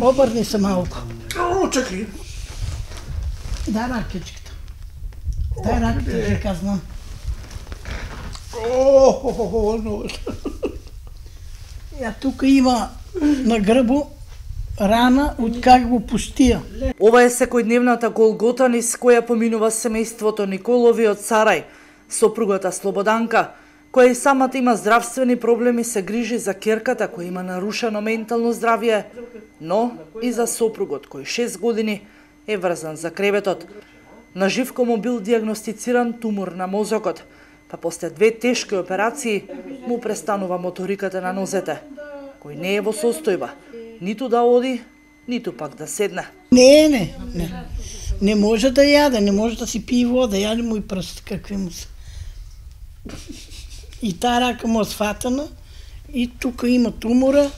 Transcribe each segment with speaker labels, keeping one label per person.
Speaker 1: Обрни се малку.
Speaker 2: Чекай.
Speaker 1: Дай ракичката. Дай ракичката, ќе казнам. Ја тука има на грбу рана од как го пустија.
Speaker 3: Ова е секојдневната голгота низ која поминува семејството Николови од Сарај. Сопругата Слободанка, која и самата има здравствени проблеми, се грижи за ќерката која има нарушено ментално здравје, но и за сопругот кој 6 години е врзан за креветот. На Живко му бил диагностициран тумор на мозокот, па после 2 тешки операции му престанува моториката на нозете, кој не е во состојба ниту да оди, ниту пак да седне.
Speaker 1: Не може да јаде, не може да си пие вода, јаде му и прст, какви му се. И таа рака му осфатана, и тука има тумора,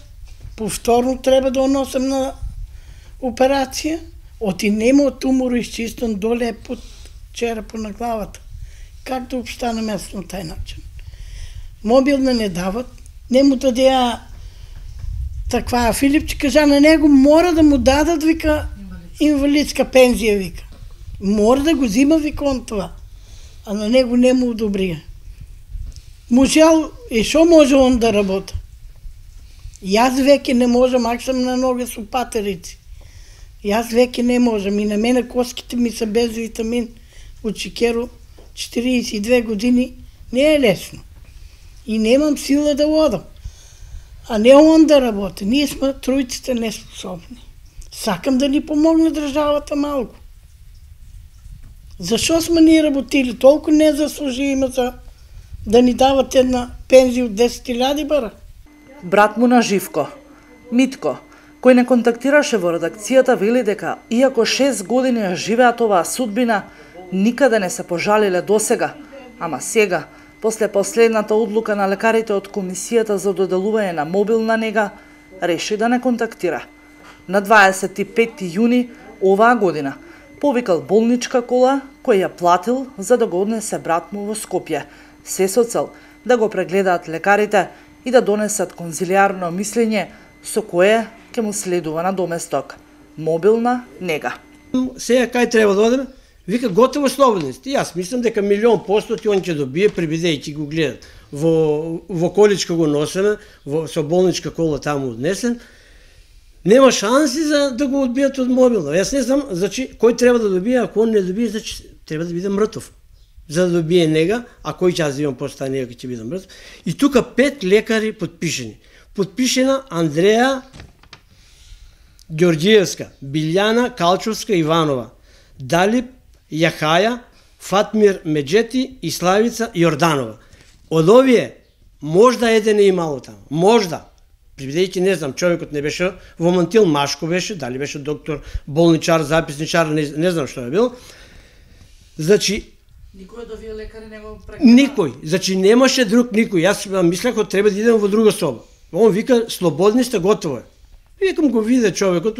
Speaker 1: повторно треба да носам на операција, оти нема тумор изчистен доле под черепот на главата. Как да обстане место на тај начин? Мобилна не дават, не му дадеа таква Филипче, кажа на него, мора да му дадат, вика, инвалидска пензија, вика. Мора да го зима, вика, он това. А на него не му одобрија. Можел, и шо може он да работа? Јас веќе не можам, ак сам на ноге со патерици. Јас веќе не можам, и на мене коските ми се без витамин од шикеру, 42 години, не е лесно. И немам сила да одам. А не он да работи. Ние сме тројците неспособни. Сакам да ни помогне државата малку. Зашо сме ние работили? Толку не заслужиме за да ни дават една пензија од 10.000 бара.
Speaker 3: Брат му на Живко, Митко, кој не контактираше во редакцијата, вели дека, иако 6 години ја живеат оваа судбина, никаде не се пожалиле досега, ама сега, после последната одлука на лекарите од Комисијата за доделување на мобилна нега, реши да не контактира. На 25 јуни оваа година повикал болничка кола која ја платил за да го однесе брат му во Скопје, се со цел да го прегледаат лекарите и да донесат конзилијарно мислење со кое ќе му следува на доместок мобилна нега.
Speaker 2: Сега кај треба да одеме? Вика, готово слободни сте. Јас мислам дека 1.000% он ќе добие, прибидејќи го гледат. Во количка го носеме, со болничка кола таму однесен. Нема шанси за да го одбијат од мобилно. Јас не знам, значи, кој треба да добие, ако он не добие, значи, треба да биде мртов. За да добие нега, а кој ќе аз имам после таа нега ќе биде мртов. И тука 5 лекари подпишени. Подпишена Андреја Ѓорѓиевска, Билјана Калчовска Иванова, Далип Јахаја, Фатмир Меджети и Славица Јорданова. Од овие, можда еден е имало таму. Можда. Бидејќи не знам, човекот не беше во мантил, машко беше, дали беше доктор, болничар, записничар, не знам што е бил. Значи,
Speaker 3: никој од овие лекари не го прегледа?
Speaker 2: Никој. Значи, немаше друг никој. Јас мислех дека треба да идем во друга соба. Он вика, слободни сте, готово е. Викам го виде човекот,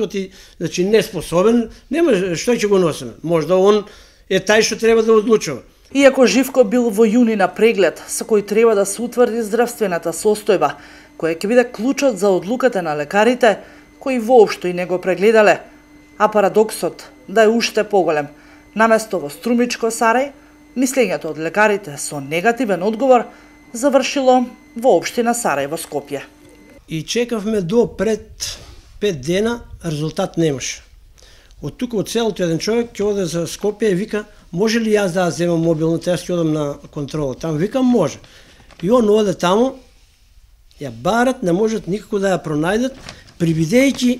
Speaker 2: значи неспособен, нема што ќе го носиме. Можда он е тај што треба да одлучува.
Speaker 3: Иако Живко бил во јуни на преглед, со кој треба да се утврди здравствената состојба, која ќе биде клучот за одлуката на лекарите, кои воопшто и не го прегледале, а парадоксот да е уште поголем. Наместо во Струмичко Сарај, мислењето од лекарите со негативен одговор завршило во општина Сарај во Скопје.
Speaker 2: И чекавме до пред 5 дена, резултат немаше. Од тука од селото еден човек ќе оде за Скопје и вика, може ли јас да земам мобилната, јас ќе одам на контрола таму. Викам, може. И он оде таму, ја барат, не можат никако да ја пронајдат, прибидејќи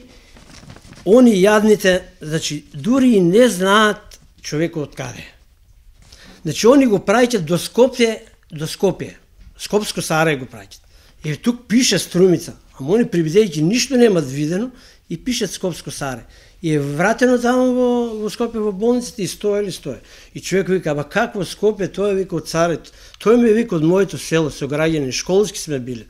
Speaker 2: они јадните, значи, дури и не знаат човекот од каде. Значи, они го праќат до Скопје, Скопско Сарај го праќат. И тук пише Струмица, ама они прибидејќи ништо немат видено и пишат Скопско Сарај. И е вратено таму во Скопје во болницата и стоја. И човек вика, аба какво Скопје, тој е вика од Сарај, тој ме вика од моето село, со граѓани, школски сме биле.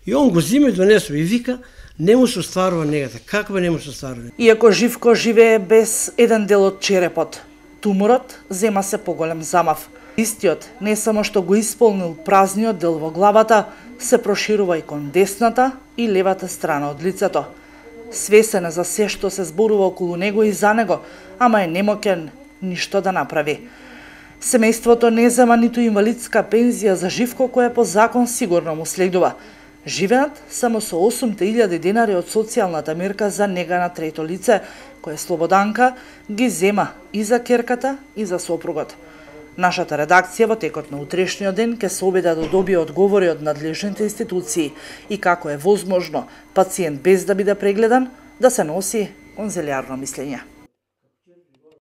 Speaker 2: И он го зима и донесува и вика, не му се остварува негата. Каква не му се остварува?
Speaker 3: Иако Живко живее без еден дел од черепот, туморот зема се поголем замав. Истиот не само што го исполнил празниот дел во главата, се проширува и кон десната и левата страна од лицето. свесен за се што се зборува околу него и за него, ама е немоќен ништо да направи. Семејството не зема ниту инвалидска пензија за Живко, која по закон сигурно му следува. Живеат само со 8.000 денари од социјалната мерка за нега на трето лице, која Слободанка ги зема и за ќерката и за сопругот. Нашата редакција во текот на утрешниот ден ќе се обиде да добие одговори од надлежните институции и како е возможно пациент без да биде прегледан да се носи конзилиарно мислење.